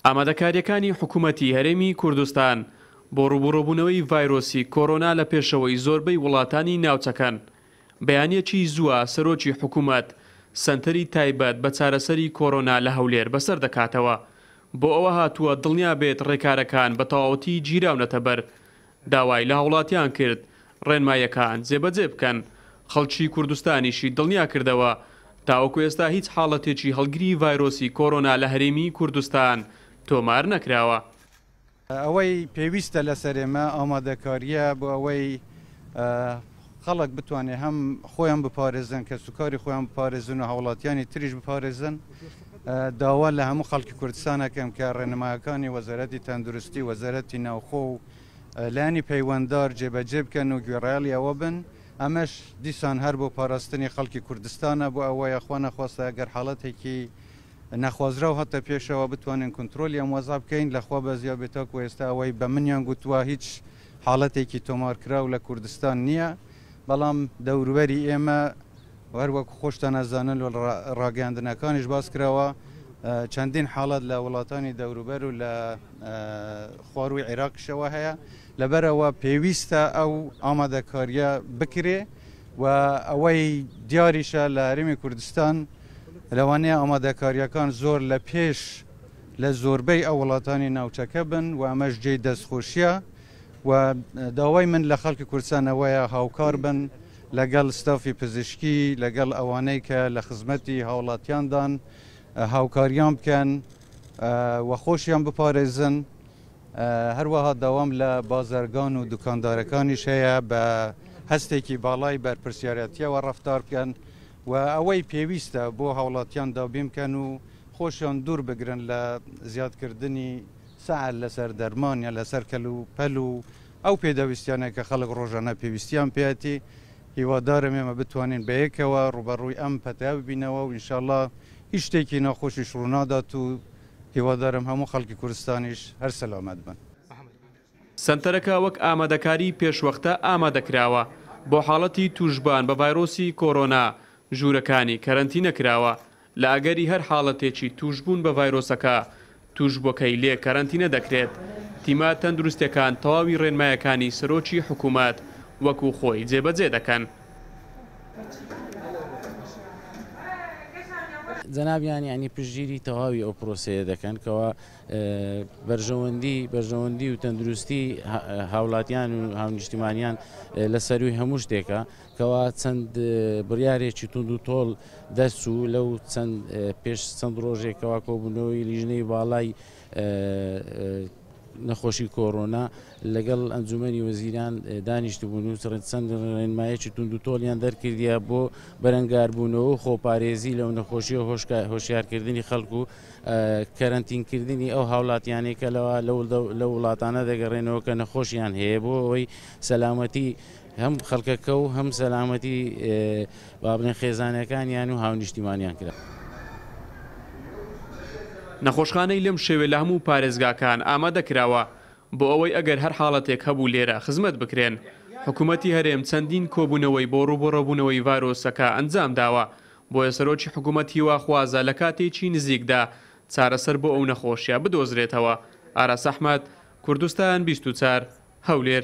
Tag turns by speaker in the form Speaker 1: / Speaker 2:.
Speaker 1: ئامادەکارییەکانی حکومەتی هەرێمی کوردستان بۆ ڕووبوڕووبوونەوەی ڤایرۆسی کۆرۆنا لە پێشەوەی زۆربەی وڵاتانی ناوچەکەن. بەیانییەکی زووە سەرۆکی حکومەت سەنتەری تایبەت بە چارەسەری کۆرۆنا لە هەولێر بەسەر دەکاتەوە. بۆ ئەوە هاتووە دڵنیا بێت ڕێکارەکان بە تەواوەتی گیراونەتە بەر. داوای لە هاوڵاتیان کرد ڕێنماییەکان جێبەجێ بکەن، خەڵکی کوردستانیشی دڵنیا کردەوە تاوەکو ئێستا هیچ حاڵەتێکی هەڵگری ڤایرۆسی کۆرۆنا لە هەرێمی کوردستان تۆمار نەکراوە.
Speaker 2: ئەوەی پێویستە لەسەر ئێمە ئامادەکارییە بۆ ئەوەی خەڵک بتوانێت هەم خۆیان بپارێزن، کەسوکاری خۆیان بپارێزن و هاوڵاتیانی تریش بپارێزن. داوا لە هەموو خەڵکی کوردستان ئەکەم کە ڕێنمایەکانی وەزارەتی تەندروستی، وەزارەتی ناوخۆ و لایەنی پەیوەنددار جێبەجێ بکەن و گوێڕایەڵی ئەوە بن. ئەمەش دیسان هەر بۆ پاراستنی خەڵکی کوردستانە، بۆ ئەوەیە خوا نەخواستە ئەگەر حاڵەتێکی نەخوازراو هاتە پێشەوە بتوانین کونترۆلی ئەم وەزعە بکەین. لە خوا بەزیا بێ تاکو ئێستا ئەوەی بە منیان گوتووە هیچ حاڵەتێکی تۆمارکراو لە کوردستان نییە، بەڵام دەوروبەری ئێمە هەر وەکو خۆشتان ئەزانن و ڕاگەیاندنەکانیش باس کراوە چەندین حاڵەت لە وڵاتانی دەوروبەر و لە خوارووی عێراقیشەوە هەیە، لەبەرئەوە پێویستە ئەو ئامادەکارییە بکرێ و ئەوەی دیاریشە لە هەرێمی کوردستان لەوانەیە ئامادەکارییەکان زۆر لە پێش لە زۆربەی ئەو وڵاتانی ناوچەکە بن و ئەمەش جێی دەستخۆشییە و داوای من لە خەڵکی کوردستان ئەوەیە هاوکار بن لەگەڵ ستافی پزیشکی، لەگەڵ ئەوانەی کە لە خزمەتی هاوڵاتیاندان هاوکاریان بکەن و خۆشیان بپارێزن. هەروەها داوام لە بازرگان و دوکاندارەکانیش هەیە بە هەستێکی باڵای بەرپرسیارەتیەوە ڕەفتار بکەن و ئەوەی پێویستە بۆ هاوڵاتیان دابین بکەن و خۆشیان دوور بگرن لە زیادکردنی سعر لەسەر دەرمان یان لەسەر کەلوپەل و ئەو پێداویستیانەی کە خەڵک ڕۆژانە پێویستیان پێیەتی. هیوادارم ئێمە بتوانین بەیەکەوە ڕووبەڕووی ئەم پەتایە ببینەوە و ئینشاڵڵا هیچ شتێکی ناخۆشیش ڕوونادات و هیوادارم هەموو خەڵکی کوردستانیش هەر سەلامەت بن.
Speaker 1: سەنتەرەکە وەک ئامادەکاری پێشوەختە ئامادەکراوە بۆ حاڵەتی تووشبوان بە ڤایرۆسی کۆرۆنا، ژوورەکانی کەرەنتینە کراوە، لە ئەگەری هەر حاڵەتێکی تووشبوون بە ڤایرۆسەکە، تووشبووەکەی لێ کەرەنتینە دەکرێت، تیمە تەندروستییەکان تەواوی ڕێنمایەکانی سەرۆکی حکوومەت وەکو خۆی جێبەجێ دەکەن.
Speaker 3: جەنابیان یانی پشتگیری تەواوی ئەو پرۆسەیە دەکەن کەوا بەرژەوەندی بەرژەوەندی و تەندروستی هاوڵاتیان و هاونیشتیمانیان لە سەروی هەموو شتێکە کەوا چەند بڕیارێکی توند و تۆڵ دەرچوو لەو چەند پێش چەند ڕۆژێکەوە کۆبوونەوەی لیژنەی باڵای نەخۆشی کۆرۆنا لەگەڵ ئەنجومەنی وەزیران دانیشتبوون و چەند ڕێنمایەکی توند و تۆڵیان دەرکردیە بۆ بەرەنگاربوونەوە و خۆپارێزی لەو نەخۆشیە هۆشیارکردنی خەڵک و کەرەنتینکردنی ئەو هاوڵاتیانەی کە لەوە لەو وڵاتانە دەگەڕێنەوە کە نەخۆشیان هەیە بۆ ئەوەی سەلامەتی هەم خەڵکەکە و هەم سەلامەتی با بڵێن خێزانەکانیان و هاونیشتیمانیان کرا.
Speaker 1: نەخۆشخانەی لەم شێوە لە هەموو پارێزگاکان ئامادە کراوە بۆ ئەوەی ئەگەر هەر حاڵەتێک هەبوو لێرە خزمەت بکرێن. حکومەتی هەرێم چەندین کۆبوونەوەی بۆ ڕووبەڕووبوونەوەی ڤایرۆسەکە ئەنجامداوە، بۆیە سەرۆکی حکومەت هیواخوازە لە کاتێکی نزیکدا چارەسەر بۆ ئەو نەخۆشیە بدۆزرێتەوە. ئاراس ئەحمەد، کوردستان 24، هەولێر.